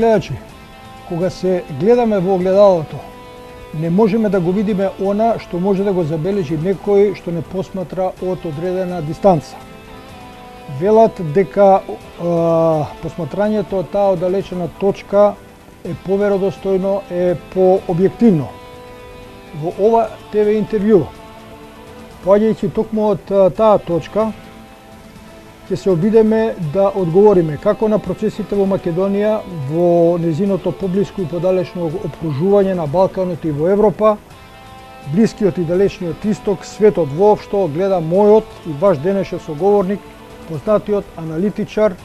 гледачи, кога се гледаме во огледалото, не можеме да го видиме она што може да го забележи некој што не посматра од одредена дистанца. Велат дека посматрањето од таа оддалечена точка е поверодостојно, е пообјективно. Во ова ТВ интервју, поаѓајќи токму од таа точка, ќе се обидеме да одговориме како на процесите во Македонија, во незиното поблиско и подалечно опкружување на Балканот и во Европа, Блискиот и Далечниот Исток, светот воопшто, гледа мојот и ваш денешен соговорник, познатиот аналитичар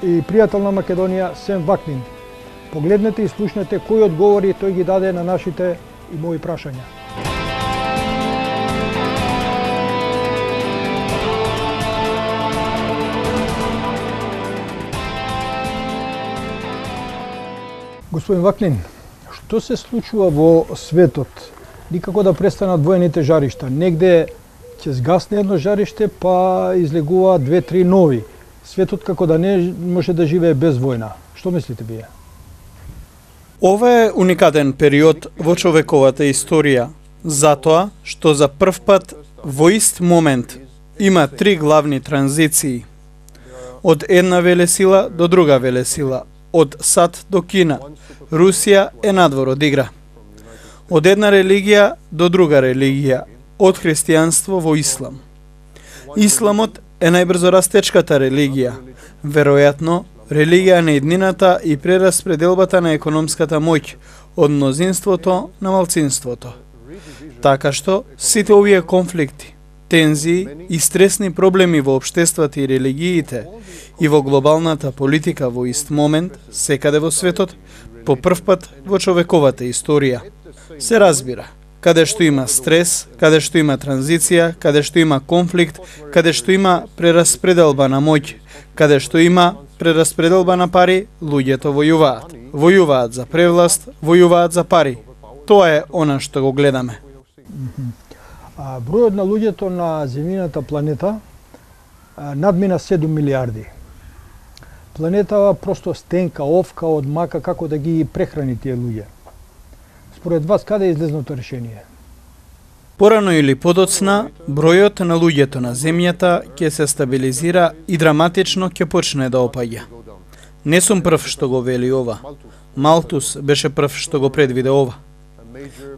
и пријател на Македонија Сем Вакнин. Погледнете и слушнете кои одговори тој ги даде на нашите и мои прашања. Господин Вакнин, што се случува во светот? Никако да престанат воените жаришта. Негде ќе згасне едно жариште, па излегува 2-3 нови. Светот како да не може да живее без војна. Што мислите вие? Ова е уникатен период во човековата историја, затоа што за прв пат во ист момент има 3 главни транзиции. Од една велесила до друга велесила, од САД до Кина, Русија е надвор од игра. Од една религија до друга религија, од христијанство во ислам. Исламот е најбрзо растечката религија, веројатно религија на еднината и прераспределбата на економската моќ од мнозинството на малцинството. Така што сите овие конфликти, тензии и стресни проблеми во општествата и религиите и во глобалната политика во ист момент, секаде во светот, по прв пат во човековата историја. Се разбира, каде што има стрес, каде што има транзиција, каде што има конфликт, каде што има прераспределба на моќ, каде што има прераспределба на пари, луѓето војуваат. Војуваат за превласт, војуваат за пари. Тоа е она што го гледаме. Бројот на луѓето на земјината планета надмина 7 милиарди. Планетава просто стенка, овка од мака како да ги прехрани тие луѓе. Според вас, каде е излезното решение? Порано или подоцна, бројот на луѓето на земјата ќе се стабилизира и драматично ќе почне да опаѓа. Не сум прв што го вели ова. Малтус беше прв што го предвиде ова.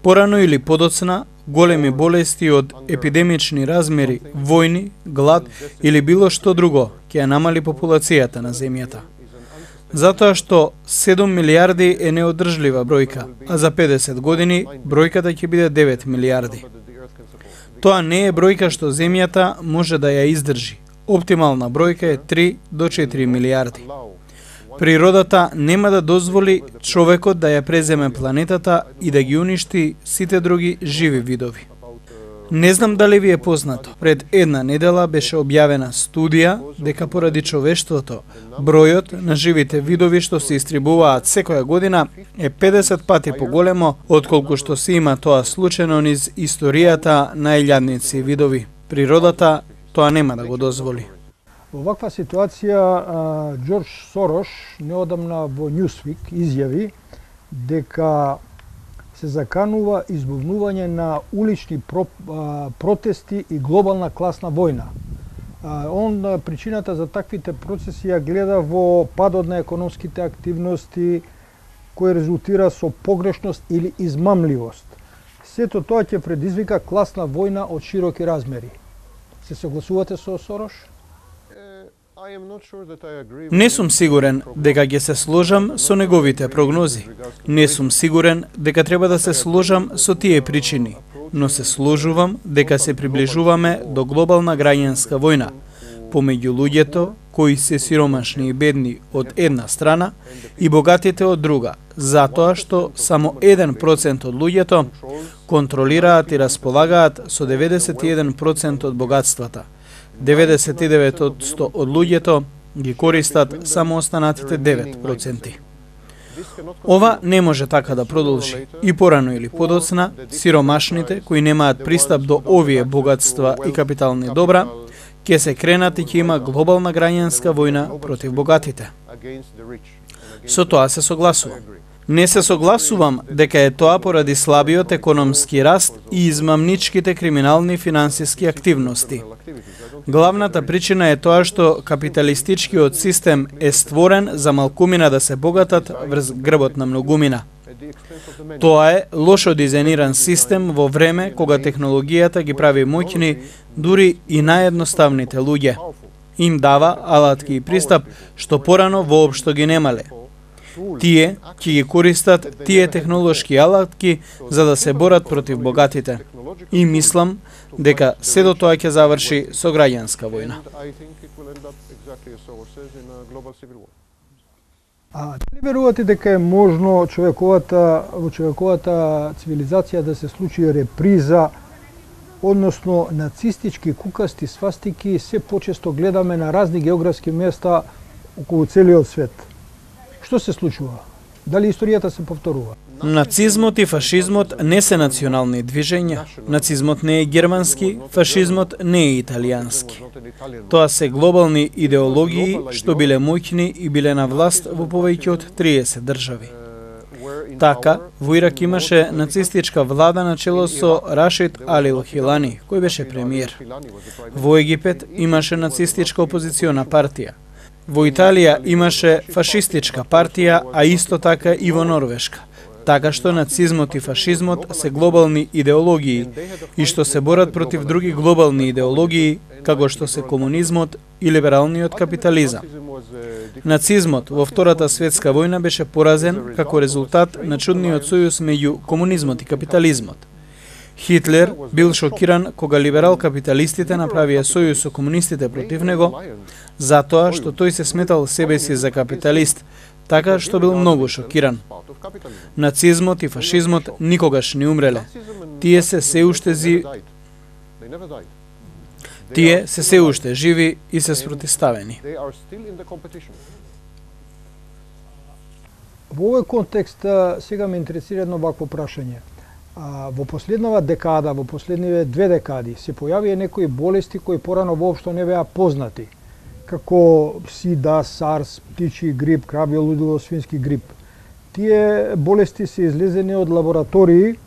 Порано или подоцна, големи болести од епидемични размери, војни, глад или било што друго ќе ја намали популацијата на земјата. Затоа што 7 милиарди е неодржлива бројка, а за 50 години бројката ќе биде 9 милиарди. Тоа не е бројка што земјата може да ја издржи. Оптимална бројка е 3 до 4 милиарди. Природата нема да дозволи човекот да ја преземе планетата и да ги уништи сите други живи видови. Не знам дали ви е познато, пред една недела беше објавена студија дека поради човештвото, бројот на живите видови што се истребуваат секоја година е 50 пати поголемо отколку што се има тоа случајно низ историјата на илјадници видови. Природата тоа нема да го дозволи. Во ваква ситуација, Џорџ Сорош неодамна во Newsweek изјави дека се заканува избувнување на улични протести и глобална класна војна. Причината за таквите процеси ја гледа во падот на економските активности кој резултира со погрешност или измамливост. Сето тоа ќе предизвика класна војна од широки размери. Се согласувате со Сорош? Не сум сигурен дека ќе се сложам со неговите прогнози. Не сум сигурен дека треба да се сложам со тие причини, но се сложувам дека се приближуваме до глобална граѓанска војна помеѓу луѓето кои се сиромашни и бедни од една страна и богатите од друга, затоа што само 1% од луѓето контролираат и располагаат со 91% од богатствата. 99% од луѓето ги користат само останатите 9%. Ова не може така да продолжи. И порано или подоцна, сиромашните кои немаат пристап до овие богатства и капитални добра, ќе се кренат и ќе има глобална граѓанска војна против богатите. Со тоа се согласувам. Не се согласувам дека е тоа поради слабиот економски раст и измамничките криминални финансиски активности. Главната причина е тоа што капиталистичкиот систем е створен за малкумина да се богатат врз грбот на многумина. Тоа е лошо дизајниран систем во време кога технологијата ги прави моќни дури и наједноставните луѓе. Им дава алатки и пристап што порано воопшто ги немале. Тие ќе ги користат тие технолошки алатки за да се борат против богатите. И мислам дека седо тоа ќе заврши со граѓанска војна. Дали верувате дека е можно во човековата цивилизација да се случи реприза, односно нацистички кукасти свастики се почесто гледаме на разни географски места околу целиот свет? Што се случува? Дали историјата се повторува? Нацизмот и фашизмот не се национални движења. Нацизмот не е германски, фашизмот не е италијански. Тоа се глобални идеологии што биле моќни и биле на власт во повеќе од 30 држави. Така, во Ирак имаше нацистичка влада на чело со Рашид Алил Хилани, кој беше премиер. Во Египет имаше нацистичка опозициона партија. Во Италија имаше фашистичка партија, а исто така и во Норвешка. Така што нацизмот и фашизмот се глобални идеологии и што се борат против други глобални идеологии, како што се комунизмот и либералниот капитализам. Нацизмот во Втората светска војна беше поразен како резултат на чудниот сојуз меѓу комунизмот и капитализмот. Хитлер бил шокиран кога либерал-капиталистите направија сојуз со комунистите против него, затоа што тој се сметал себе си за капиталист, така што бил многу шокиран. Нацизмот и фашизмот никогаш не умреле. Тие се се уште живи и се спротивставени. Во овој контекст сега ме интересира едно вакво прашање. Во последнава декада, во последниве 2 декади, се појавија некои болести кои порано воопшто не беа познати, како СИДА, САРС, птичи грип, крабје лудило, свински грип. Тие болести се излезени од лаборатории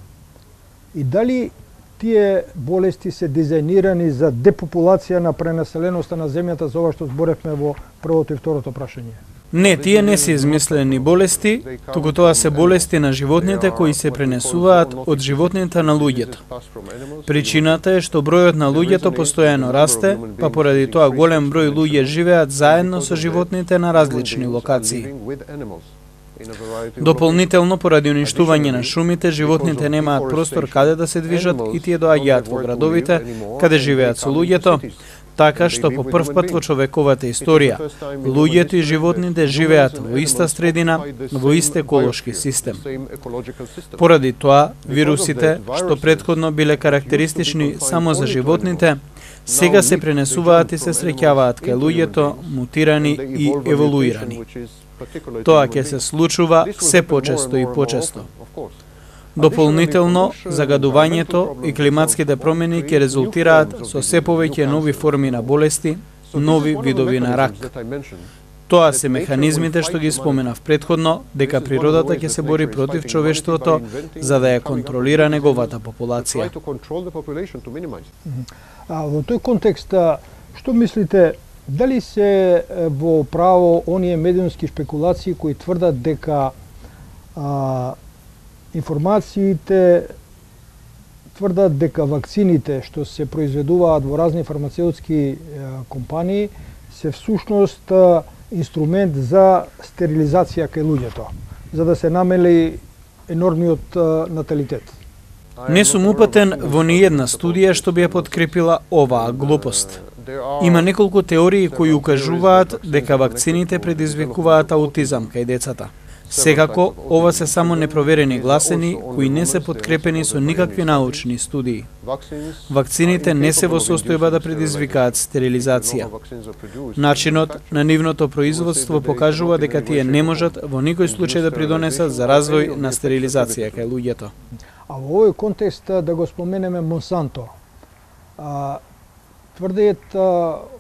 и дали тие болести се дизајнирани за депопулација на пренаселеноста на земјата, за ова што зборевме во првото и второто прашање? Не, тие не се измислени болести, туку тоа се болести на животните кои се пренесуваат од животните на луѓето. Причината е што бројот на луѓето постојано расте, па поради тоа голем број луѓе живеат заедно со животните на различни локации. Дополнително, поради уништување на шумите, животните немаат простор каде да се движат и тие доаѓаат во градовите, каде живеат со луѓето, така што по прв пат во човековата историја, луѓето и животните живеат во иста средина, во ист еколошки систем. Поради тоа, вирусите, што претходно биле карактеристични само за животните, сега се пренесуваат и се среќаваат кај луѓето, мутирани и еволуирани. Тоа ќе се случува се почесто и почесто. Дополнително, загадувањето и климатските промени ќе резултираат со се повеќе нови форми на болести, нови видови на рак. Тоа се механизмите што ги споменав претходно, дека природата ќе се бори против човештвото за да ја контролира неговата популација. Во тој контекст, што мислите, дали се во право оние медиумски шпекулации кои тврдат дека информациите тврдат дека вакцините што се произведуваат во разни фармацеутски компании се всушност инструмент за стерилизација кај луѓето, за да се намали енормниот наталитет? Не сум упатен во ниедна студија што би ја подкрепила оваа глупост. Има неколку теории кои укажуваат дека вакцините предизвикуваат аутизам кај децата. Секако, ова се само непроверени гласени кои не се подкрепени со никакви научни студии. Вакцините не се во состојба да предизвикаат стерилизација. Начинот на нивното производство покажува дека тие не можат во никој случај да придонесат за развој на стерилизација кај луѓето. А во овој контекст да го споменеме Монсанто. Тврдеат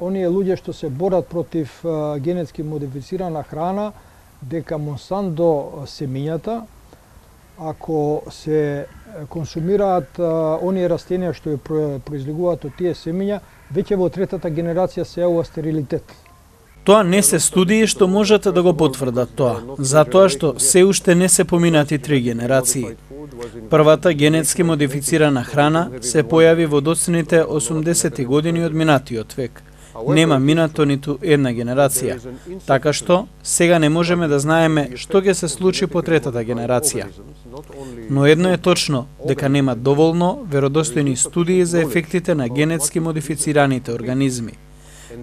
оние луѓе што се борат против генетски модифицирана храна дека Монсанто семењата, ако се консумираат оние растенија што ја произлегуваат од тие семења, веќе во третата генерација се јавува стерилитет. Тоа не се студии што можат да го потврдат тоа, затоа што се уште не се поминати 3 генерации. Првата генетски модифицирана храна се појави во доцните 80-ти години од минатиот век. Нема минато ниту една генерација, така што сега не можеме да знаеме што ќе се случи по третата генерација. Но едно е точно, дека нема доволно веродостојни студии за ефектите на генетски модифицираните организми.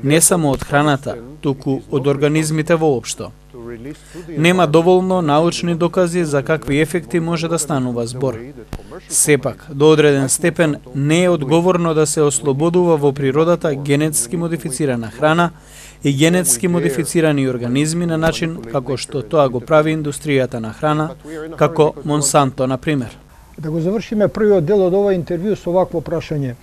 Не само од храната, туку од организмите воопшто. Нема доволно научни докази за какви ефекти може да станува збор. Сепак, до одреден степен не е одговорно да се ослободува во природата генетски модифицирана храна и генетски модифицирани организми на начин како што тоа го прави индустријата на храна, како Монсанто, например. Да го завршиме првиот дел од ова интервју со вакво прашање.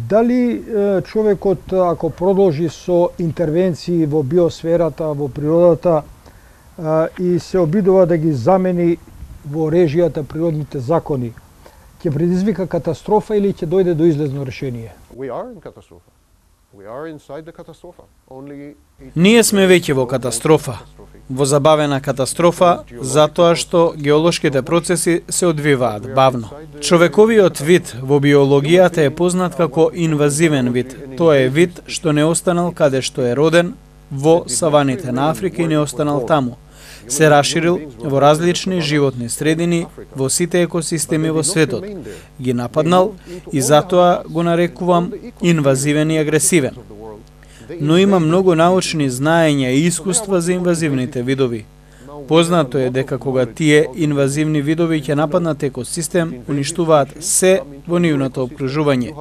Дали човекот, ако продолжи со интервенции во биосферата, во природата, и се обидува да ги замени во режијата природните закони, ќе предизвика катастрофа или ќе дојде до излезно решение? Ние сме веќе во катастрофа. Во забавена катастрофа, затоа што геолошките процеси се одвиваат бавно. Човековиот вид во биологијата е познат како инвазивен вид. Тоа е вид што не останал каде што е роден, во саваните на Африка и не останал таму. Се расширил во различни животни средини, во сите екосистеми во светот. Ги нападнал и затоа го нарекувам инвазивен и агресивен. Но има многу научни знаења и искуства за инвазивните видови. Познато е дека кога тие инвазивни видови ќе нападнат екосистем, уништуваат се во нивното обкружување.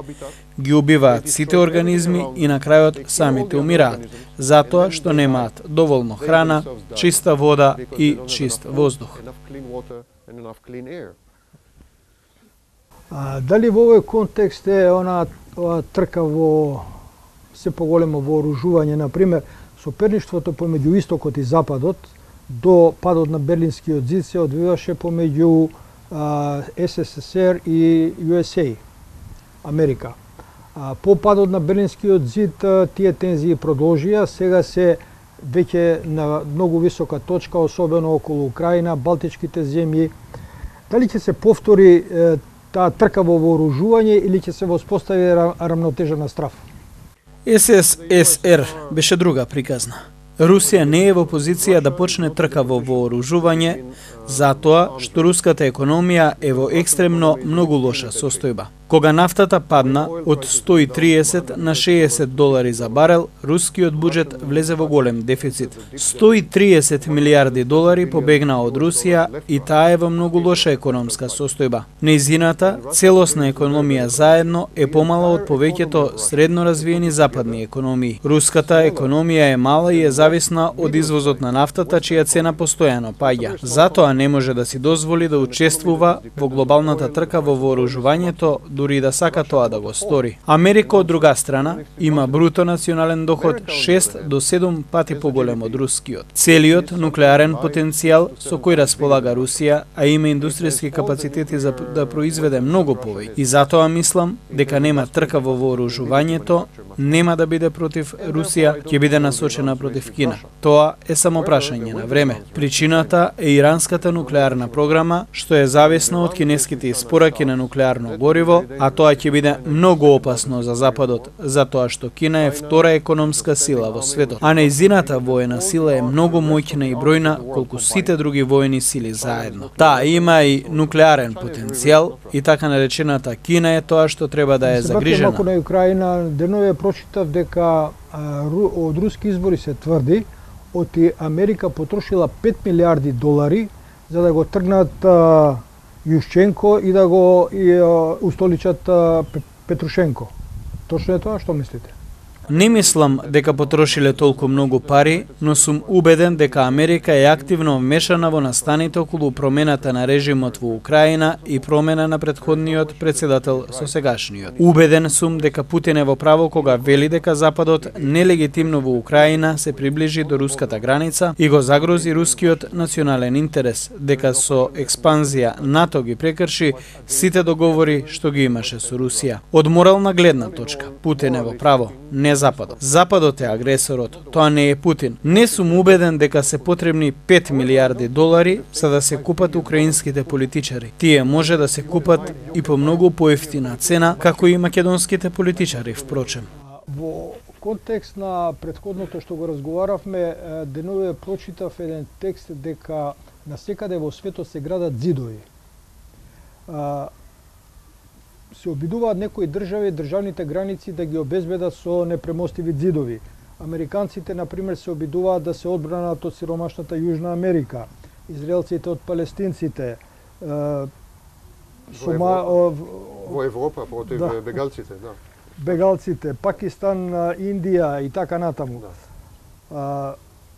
Ги убиваат сите организми и на крајот самите умираат, затоа што немаат доволно храна, чиста вода и чист воздух. Дали во овој контекст е она трка во се поголемо вооружување, например, соперништвото помеѓу Истокот и Западот до падот на Берлинскиот зид се одвиваше помеѓу СССР и USA, Америка. По падот на Берлинскиот зид тие тензии продолжија, сега се веќе на многу висока точка, особено околу Украина, Балтичките земји. Дали ќе се повтори таа трка во вооружување или ќе се воспостави рамнотежа на страв? СССР беше друга приказна. Русија не е во позиција да почне трка во вооружување, затоа што руската економија е во екстремно многу лоша состојба. Кога нафтата падна од 130 на $60 за барел, рускиот буџет влезе во голем дефицит. 130 милиарди долари побегна од Русија и таа е во многу лоша економска состојба. Нејзината целосна економија заедно е помала од повеќето средно развиени западни економии. Руската економија е мала и е зависна од извозот на нафтата, чија цена постојано паѓа. Затоа не може да си дозволи да учествува во глобалната трка во вооружувањето, дури да сака тоа да го стори. Америка, од друга страна, има бруто национален доход 6 до 7 пати поголем од рускиот. Целиот нуклеарен потенцијал со кој располага Русија, а има индустријски капацитети за да произведе многу повеќе. И затоа мислам дека нема трка во вооружувањето, нема да биде против Русија, ќе биде насочена против Кина. Тоа е само прашање на време. Причината е иранската нуклеарна програма, што е зависна од кинеските испораки на нуклеарно гориво, а тоа ќе биде многу опасно за Западот, затоа што Кина е втора економска сила во светот, а нејзината воена сила е многу моќна и бројна колку сите други воени сили заедно. Таа има и нуклеарен потенцијал и така наречената Кина е тоа што треба да е загрижена. Малку на Украина, денове прочитав дека од руски избори се тврди оти Америка потрошила 5 милиарди долари за да го тргнат Јушченко и да го устоличат Петрушенко. Точно е тоа, што мислите? Не мислам дека потрошиле толку многу пари, но сум убеден дека Америка е активно вмешана во настаните околу промената на режимот во Украина и промена на претходниот председател со сегашниот. Убеден сум дека Путин е во право кога вели дека Западот нелегитимно во Украина се приближи до руската граница и го загрози рускиот национален интерес, дека со експанзија НАТО ги прекрши сите договори што ги имаше со Русија. Од морална гледна точка, Путин е во право, не Западот. Западот е агресорот, тоа не е Путин. Не сум убеден дека се потребни 5 милиарди долари за да се купат украинските политичари. Тие може да се купат и по многу поевтина цена, како и македонските политичари, впрочем. Во контекст на претходното што го разговаравме, денове прочитав еден текст дека насекаде во светот се градат зидови. Се обидуваат некои држави, државните граници да ги обезбедат со непремостиви зидови. Американците, например, се обидуваат да се одбранат од сиромашната Јужна Америка, израелците од палестинците, во Европа против бегалците, да. Бегалците, Пакистан, Индија и така натаму.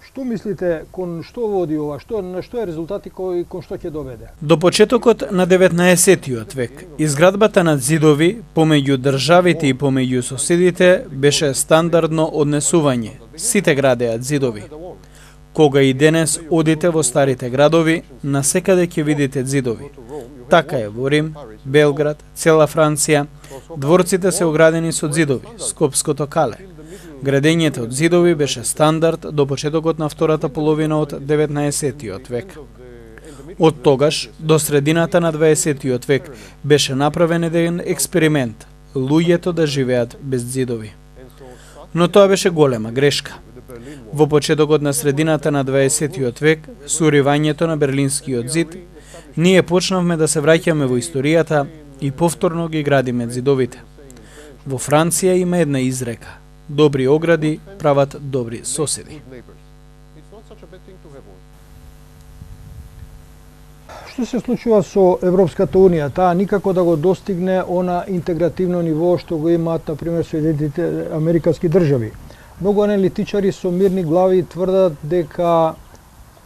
Што мислите, кон што води ова? На што е резултати кон што ќе доведе? До почетокот на 19-тиот век, изградбата на зидови помеѓу државите и помеѓу соседите беше стандардно однесување. Сите градеат зидови. Кога и денес одите во старите градови, насекаде ќе видите зидови. Така е во Рим, Белград, цела Франција. Дворците се оградени со зидови, Скопското кале. Градењето од зидови беше стандард до почетокот на втората половина од 19-тиот век. Од тогаш до средината на 20-тиот век беше направен еден експеримент – луѓето да живеат без зидови. Но тоа беше голема грешка. Во почетокот на средината на 20-тиот век, со уривањето на Берлинскиот зид, ние почнавме да се враќаме во историјата и повторно ги градиме зидовите. Во Франција има една изрека: добри огради прават добри соседи. Што се случува со Европската Унија? Таа никако да го достигне она интегративно ниво што го имаат, например, Соединетите Американски држави. Многу аналитичари со мирни глави тврдат дека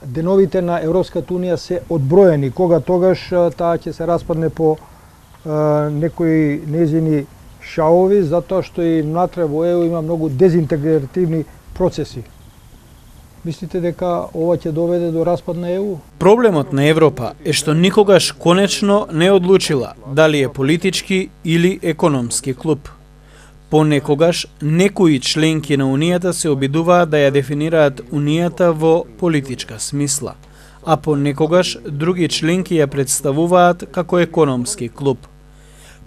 деновите на Европската Унија се одброени, кога тогаш таа ќе се распадне по некои незини шаови, затоа што и внатре во ЕУ има многу дезинтегративни процеси. Мислите дека ова ќе доведе до распад на ЕУ? Проблемот на Европа е што никогаш конечно не одлучила дали е политички или економски клуб. Понекогаш некои членки на Унијата се обидуваат да ја дефинираат Унијата во политичка смисла, а понекогаш други членки ја представуваат како економски клуб.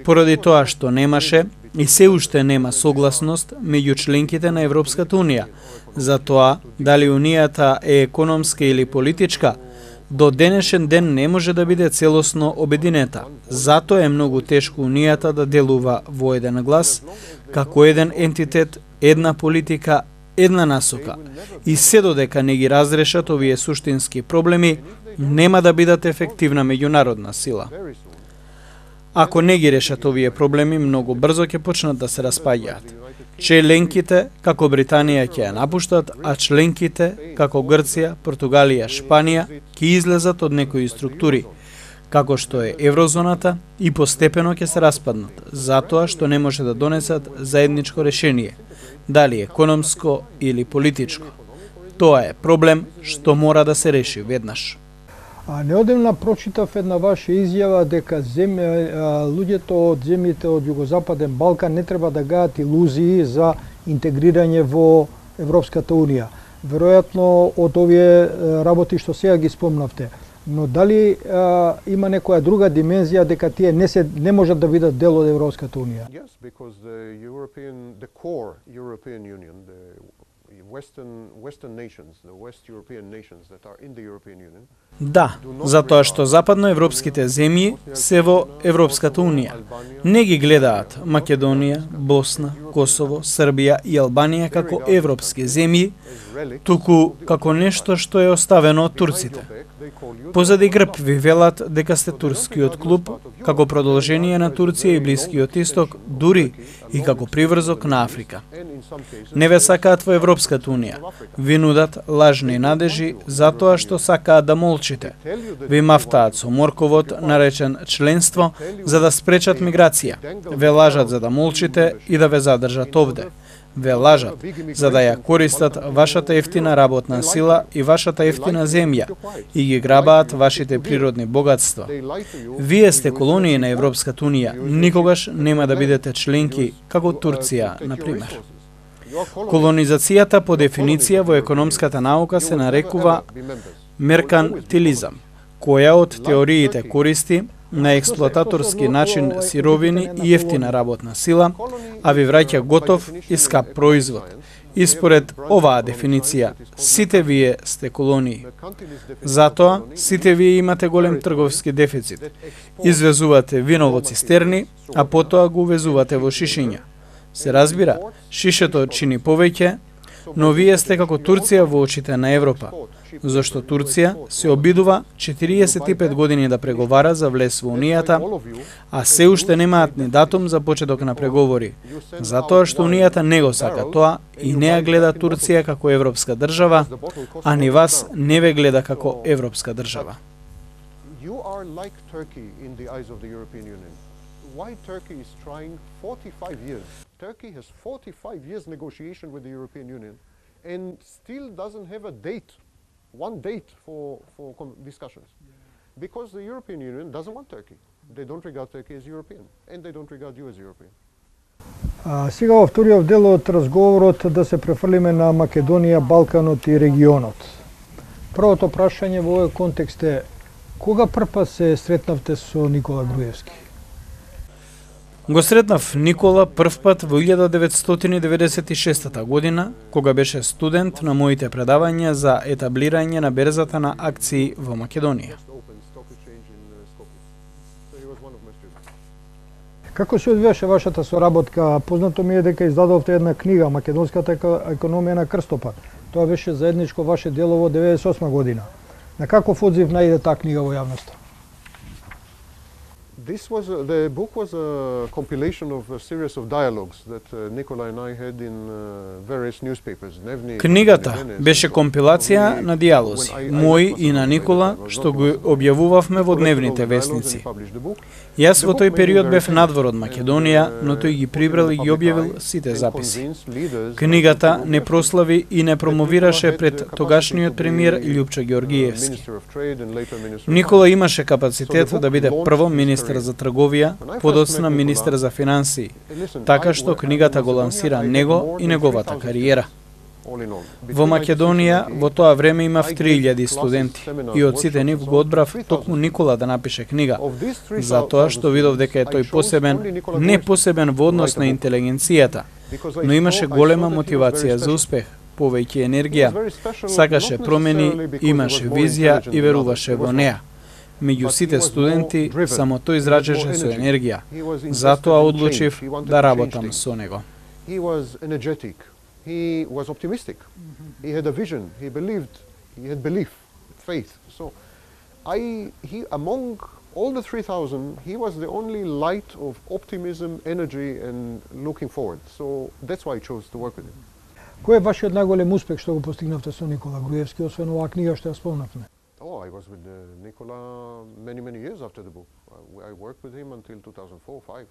Поради тоа што немаше и се уште нема согласност меѓу членките на Европската Унија за тоа дали Унијата е економска или политичка, до денешен ден не може да биде целосно обединета. Затоа е многу тешко Унијата да делува во еден глас, како еден ентитет, една политика, една насока. И се додека не ги разрешат овие суштински проблеми, нема да бидат ефективна меѓународна сила. Ако не ги решат овие проблеми, многу брзо ќе почнат да се распаѓаат. Членките, како Британија, ќе ја напуштат, а членките, како Грција, Португалија, Шпанија, ќе излезат од некои структури, како што е еврозоната, и постепено ќе се распаднат, затоа што не може да донесат заедничко решение, дали економско или политичко. Тоа е проблем што мора да се реши веднаш. Неодамна прочитав една ваша изјава дека луѓето од земјите од Југозападен Балкан не треба да гајат илузии за интегрирање во Европската Унија. Веројатно од овие работи што сега ги спомнавте. Но дали има некоја друга димензија дека тие не можат да бидат дел од Европската Унија? Yes, because the core European Union, the Western nations, the West European nations that are in the European Union. Да, затоа што западноевропските земји се во Европската Унија. Не ги гледаат Македонија, Босна, Косово, Србија и Албанија како европски земји, туку како нешто што е оставено од турците. Позади грб ви велат дека сте турскиот клуб, како продолжение на Турција и Блискиот Исток, дури и како приврзок на Африка. Не ве сакаат во Европската унија, ви нудат лажни надежи затоа што сакаат да молчите. Ви мафтаат со морковот наречен членство за да спречат миграција. Ве лажат за да молчите и да ве задржат овде. Ве лажат за да ја користат вашата ефтина работна сила и вашата ефтина земја и ги грабаат вашите природни богатства. Вие сте колонии на Европската унија, никогаш нема да бидете членки како Турција, на пример. Колонизацијата по дефиниција во економската наука се нарекува меркантилизам, која од теориите користи на експлоататорски начин сировини и ефтина работна сила, а ви враќа готов и скап производ. И според оваа дефиниција, сите вие сте колонии. Затоа, сите вие имате голем трговски дефицит. Извезувате вино во цистерни, а потоа го увезувате во шишиња. Се разбира, шишето чини повеќе, но вие сте како Турција во очите на Европа, зашто Турција се обидува 45 години да преговара за влез во Унијата, а се уште немаат ни датум за почеток на преговори, затоа што Унијата не го сака тоа и не ја гледа Турција како европска држава, а ни вас не ве гледа како европска држава. Why Turkey is trying 45 years. Turkey has 45 years negotiation with the European Union and still doesn't have a date, one date for discussions. Because the European Union doesn't want Turkey. They don't regard Turkey as European and they don't regard you as European. Сега во вториот дел од разговорот да се префрлиме на Македонија, Балканот и регионот. Првото прашање во овој контекст е кога прв се сретнавте со Никола Груевски? Го сретнав Никола првпат во 1996 година, кога беше студент на моите предавања за етаблирање на берзата на акции во Македонија. Како се одвиваше вашата соработка? Познато ми е дека издадовте една книга Македонската економија на крстопат. Тоа беше заедничко ваше дело во 1998 година. На каков одзив најде таа книга во јавноста? The book was a compilation of a series of dialogues that Nikola and I had in various newspapers. Книгата беше компилација на диалози, мои и на Никола, што го објавувавме во дневните весници. Јас во тој период бев надвор од Македонија, но тој ги прибрал и ги објавил сите записи. Книгата не прослави и не промовираше пред тогашниот премиер Љупчо Ѓоргиевски. Никола имаше капацитет да биде прво министер за трговија, подоцна министер за финансии, така што книгата го лансира него и неговата кариера. Во Македонија во тоа време имав 3000 студенти и од сите нив го одбрав токму Никола да напише книга, затоа што видов дека е тој посебен, не посебен во однос на интелигенцијата, но имаше голема мотивација за успех, повеќе енергија, сакаше промени, имаше визија и веруваше во неа. Меѓу сите студенти, само тој израчеше со енергија. Затоа одлучив да работам со него. He was energetic. He was optimistic. He had a vision. He had belief, faith. So, among all the 3,000, he was the only light of optimism, energy, and looking forward. So that's why I chose to work with him. Кој е вашиот најголем успех што го постигнавте со Никола Груевски, освен оваа книга што ја спомнавме? I was with Nikola many years after the book. I worked with him until 2004-05.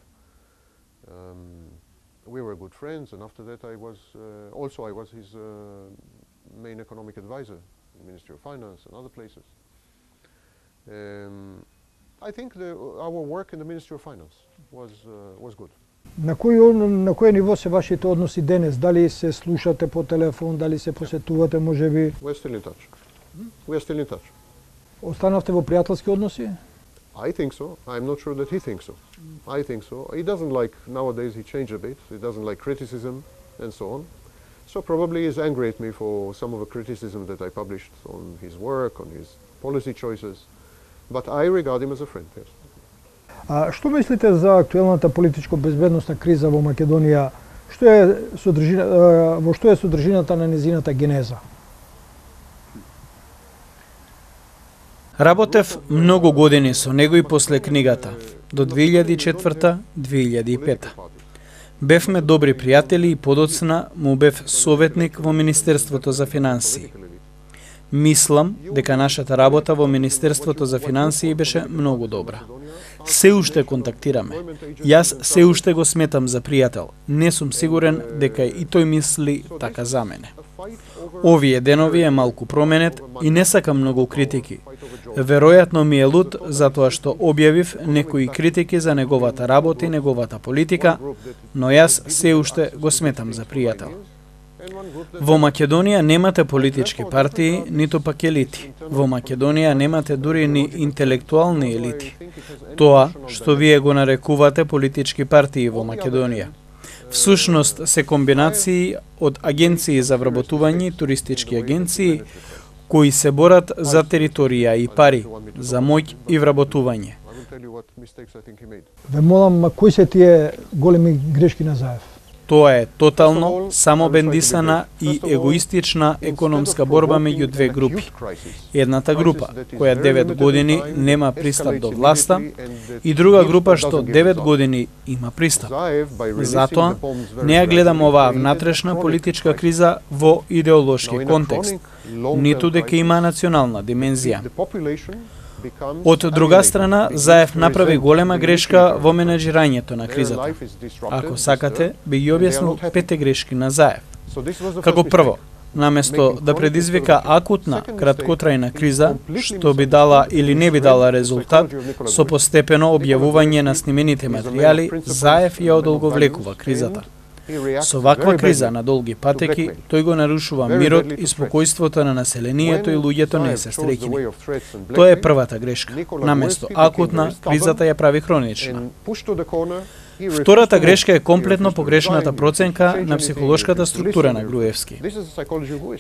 We were good friends, and after that I was his main economic advisor in the Ministry of Finance and other places. I think our work in the Ministry of Finance was good. На кој ниво се вашите односи денес? Дали се слушате по телефон, дали се посетувате, можеби? We're still in touch. We are still in touch. Останавте во пријателски односи? I think so. I'm not sure that he thinks so. I think so. He doesn't like, nowadays he changed a bit. He doesn't like criticism and so on. So probably he's angry at me for some of the criticism that I published on his work, on his policy choices. But I regard him as a friend, yes. Што мислите за актуелната политичко-безбедносна криза во Македонија? Во што е содржината на нејзината генеза? Работев многу години со него и после книгата, до 2004-2005. Бевме добри пријатели и подоцна му бев советник во Министерството за финансии. Мислам дека нашата работа во Министерството за финансии беше многу добра. Се уште контактираме. Јас се уште го сметам за пријател. Не сум сигурен дека и тој мисли така за мене. Овие денови е малку променет и не сакам многу критики. Веројатно ми е лут затоа што објавив некои критики за неговата работа и неговата политика, но јас се уште го сметам за пријател. Во Македонија немате политички партии, ниту пак елити. Во Македонија немате дури ни интелектуални елити. Тоа што вие го нарекувате политички партии во Македонија. Всушност се комбинации од агенции за вработување и туристички агенции кои се борат за територија и пари, за моќ и вработување. Ве молам, кои се тие големи грешки на Заев? Тоа е тотално самобендисана и егоистична економска борба меѓу две групи. Едната група, која 9 години нема пристап до власта, и друга група што 9 години има пристап. Затоа, не ја гледам оваа внатрешна политичка криза во идеолошки контекст, ниту дека има национална димензија. Од друга страна, Заев направи голема грешка во менеджирањето на кризата. Ако сакате, би ги објаснил 5 грешки на Заев. Како прво, наместо да предизвика акутна, краткотрајна криза, што би дала или не би дала резултат, со постепено објавување на снимените материјали, Заев ја одолговлекува кризата. Со ваква криза на долги патеки, тој го нарушува мирот и спокојството на населението и луѓето не се среќни. Тоа е првата грешка. Наместо акутна, кризата ја прави хронична. Втората грешка е комплетно погрешната проценка на психолошката структура на Груевски.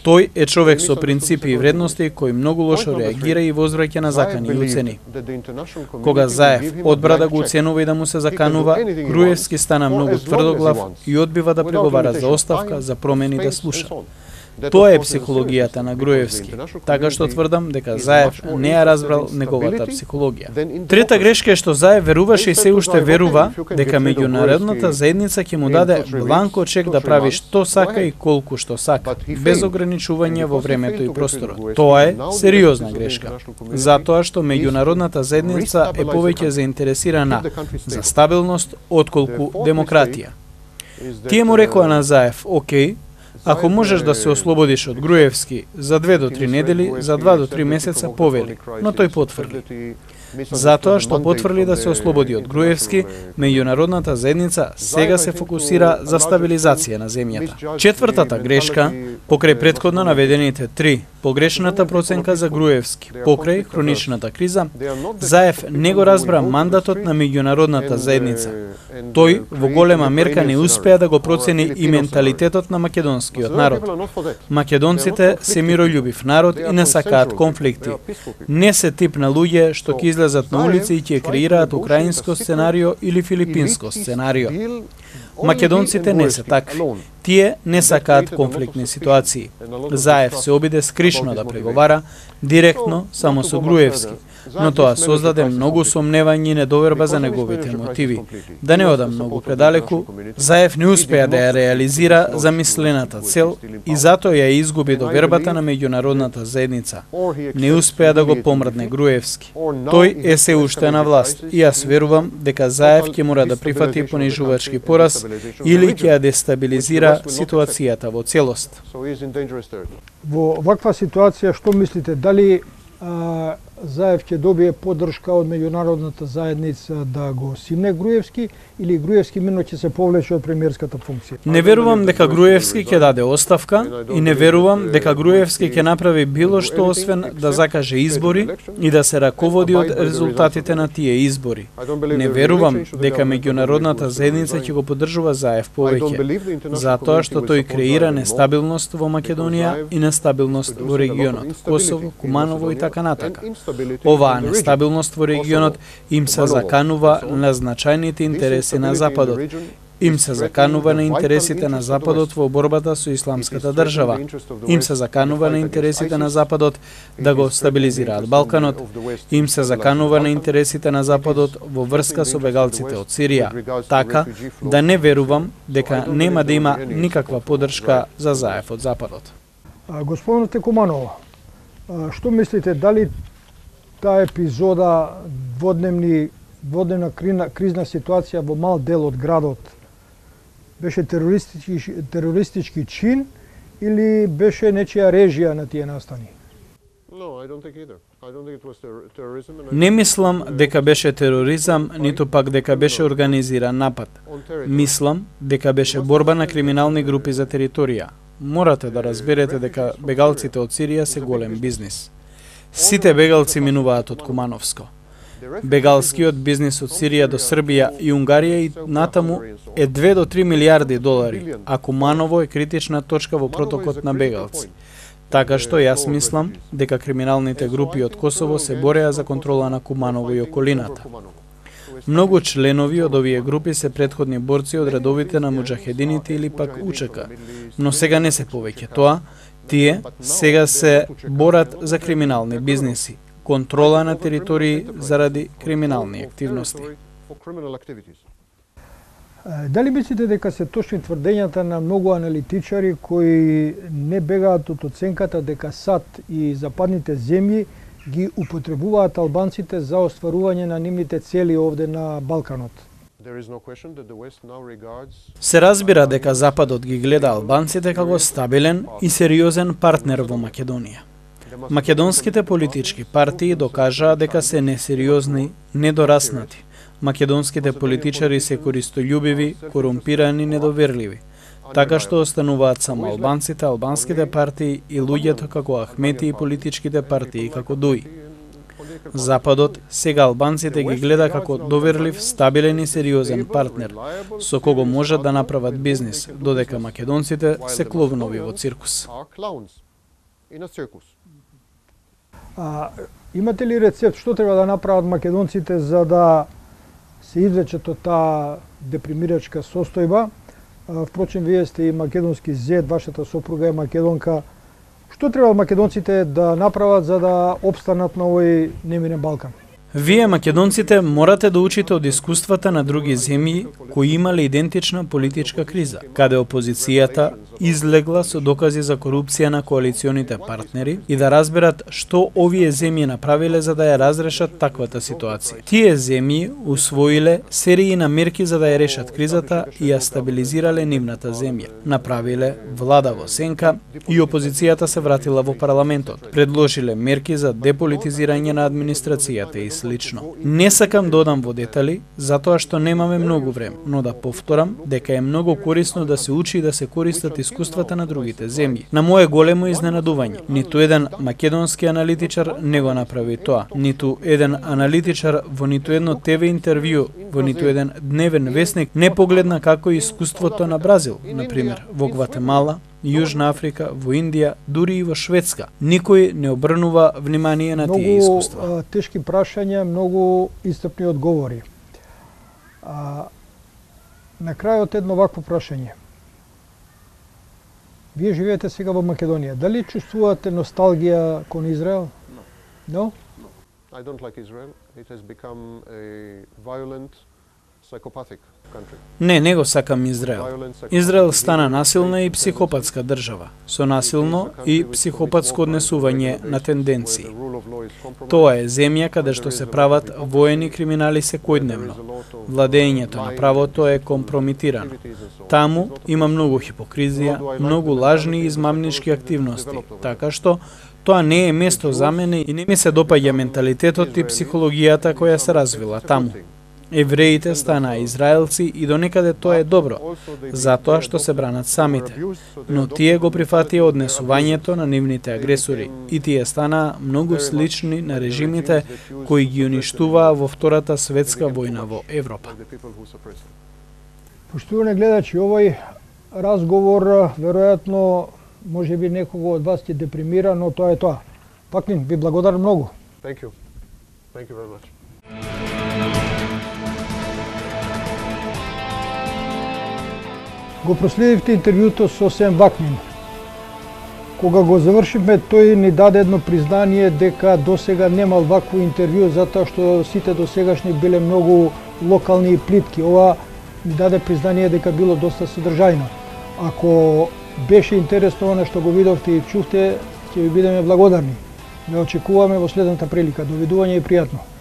Тој е човек со принципи и вредности кој многу лошо реагира и возвраќа на закани и уцени. Кога Заев одбра да го уценува и да му се заканува, Груевски стана многу тврдоглав и одбива да преговара за оставка, за промени да слуша. Тоа е психологијата на Груевски, така што тврдам дека Заев не ја разбрал неговата психологија. Трета грешка е што Заев веруваше и се уште верува дека меѓународната заедница ќе му даде бланко чек да прави што сака и колку што сака, без ограничување во времето и просторот. Тоа е сериозна грешка, затоа што меѓународната заедница е повеќе заинтересирана за стабилност отколку демократија. Тие му рекоа на Заев: "Океј, ако можеш да се ослободиш од Груевски за 2 до 3 недели, за 2 до 3 месеца повели", но тој потврди. Затоа што потврди да се ослободи од Груевски, меѓународната заедница сега се фокусира за стабилизација на земјата. Четвртата грешка, покрај претходно наведените 3, погрешната проценка за Груевски, покрај хроничната криза, Заев не го разбра мандатот на меѓународната заедница. Тој во голема мерка не успеа да го процени и менталитетот на македонскиот народ. Македонците се мирољубив народ и не сакаат конфликти. Не се тип на луѓе што ќе излезат на улица и ќе креираат украинско сценарио или филипинско сценарио. Македонците не се такви. Тие не сакаат конфликтни ситуации. Заев се обиде скришно да преговара, директно, само со Груевски, но тоа создаде многу сомневање и недоверба за неговите мотиви. Да не одам многу предалеку, Заев не успеа да ја реализира замислената цел и затоа ја изгуби довербата на меѓународната заедница. Не успеа да го помрдне Груевски. Тој е се уште на власт и јас верувам дека Заев ќе мора да прифати понижувачки пораз или ќе ја дестабилизира ситуацијата во целост. Во ваква ситуација што мислите, дали Заев ќе добие поддршка од меѓународната заедница да го симне Груевски или Груевски мино ќе се повлече од премиерската функција? Не верувам дека Груевски ќе даде оставка и не верувам дека Груевски ќе направи било што освен да закаже избори и да се раководи од резултатите на тие избори. Не верувам дека меѓународната заедница ќе го поддржува Заев повеќе, затоа што тој креира нестабилност во Македонија и нестабилност во регионот, Косово, Куманово и така натака. Оваа нестабилност во регионот им се заканува на значајните интереси на Западот Им се заканува на интересите на Западот во борбата со исламската држава. Им се заканува на интересите на Западот да го стабилизираат Балканот. Им се заканува на интересите на Западот во врска со бегалците од Сирија. Така да не верувам дека нема да има никаква поддршка за Заев од Западот. Господин Текуманова, што мислите, дали таа епизода дводневна кризна ситуација во мал дел од градот беше терористички чин или беше нечија режија на тие настани? Не мислам дека беше тероризам, ниту пак дека беше организиран напад. Мислам дека беше борба на криминални групи за територија. Морате да разберете дека бегалците од Сирија се голем бизнис. Сите бегалци минуваат од Кумановско. Бегалскиот бизнис од Сирија до Србија и Унгарија и натаму е 2 до 3 милиарди долари, а Куманово е критична точка во протокот на бегалци. Така што јас мислам дека криминалните групи од Косово се бореа за контрола на Куманово и околината. Многу членови од овие групи се претходни борци од редовите на муџахедините или пак УЧК, но сега не се повеќе тоа, тие сега се борат за криминални бизниси, контрола на територии заради криминални активности. Дали мислите дека се точни тврдењата на многу аналитичари кои не бегаат од оценката дека САД и западните земји ги употребуваат албанците за остварување на нивните цели овде на Балканот? Се разбира дека Западот ги гледа албанците како стабилен и сериозен партнер во Македонија. Македонските политички партии докажаа дека се несериозни, недораснати. Македонските политичари се користољубиви, корумпирани, недоверливи. Така што остануваат само албанците, албанските партии и луѓето како Ахмети и политичките партии како Дуи. Западот сега албанците ги гледа како доверлив, стабилен и сериозен партнер, со кого можат да направат бизнис, додека македонците се кловнови во циркус. Имате ли рецепт што треба да направат македонците за да се извлечат од таа депримирачка состојба? Впрочем, вие сте и македонски зет, вашата сопруга е македонка. Што треба македонците да направат за да опстанат на овој немирен Балкан? Вие, македонците, морате да учите од искуствата на други земји кои имале идентична политичка криза, каде опозицијата излегла со докази за корупција на коалиционите партнери и да разберат што овие земји направиле за да ја разрешат таквата ситуација. Тие земји усвоиле серии на мерки за да ја решат кризата и ја стабилизирале нивната земја. Направиле влада во сенка и опозицијата се вратила во парламентот. Предложиле мерки за деполитизирање на администрацијата и слично. Не сакам да одам во детали, затоа што немаме многу време, но да повторам дека е многу корисно да се учи и да се користат искуствата на другите земји. На мое големо изненадување, ниту еден македонски аналитичар не го направи тоа, ниту еден аналитичар во ниту едно ТВ интервју, во ниту еден дневен весник не погледна како е искуството на Бразил, на пример, во Гватемала, Јужна Африка, во Индија, дури и во Шведска. Никој не обрнува внимание на тие искуства. Многу тешки прашања, многу истрпни одговори. На крајот едно вакво прашање. Вие живеете сега во Македонија. Дали чувствувате носталгија кон Израел? No? I don't like Israel. It has become a violent, psychopathic country. Не го сакам Израел. Израел стана насилна и психопатска држава, со насилно и психопатско однесување на тенденции. Тоа е земја каде што се прават воени криминали секојдневно. Владењето на правото е компромитирано. Таму има многу хипокризија, многу лажни и измамнички активности, така што тоа не е место за мене и не ми се допаѓа менталитетот и психологијата која се развила таму. Евреите станаа израелци и донекаде тоа е добро, затоа што се бранат самите. Но тие го прифатија однесувањето на нивните агресори и тие станаа многу слични на режимите кои ги уништуваа во Втората светска војна во Европа. Поштувани гледачи, овој разговор веројатно може би некого од вас ќе депримира, но тоа е тоа. Паклин, ви благодарам многу. Thank you. Thank you very much. Го проследивте интервјуто со Сем Вакнин. Кога го завршивме, тој ни даде едно признание дека досега немал вакво интервју затоа што сите досегашни биле многу локални и плитки. Ова ни даде признание дека било доста содржајно. Ако беше интересно она што го видовте и чувте, ќе ви бидеме благодарни. Ве очекуваме во следната прилика. Довидување и пријатно.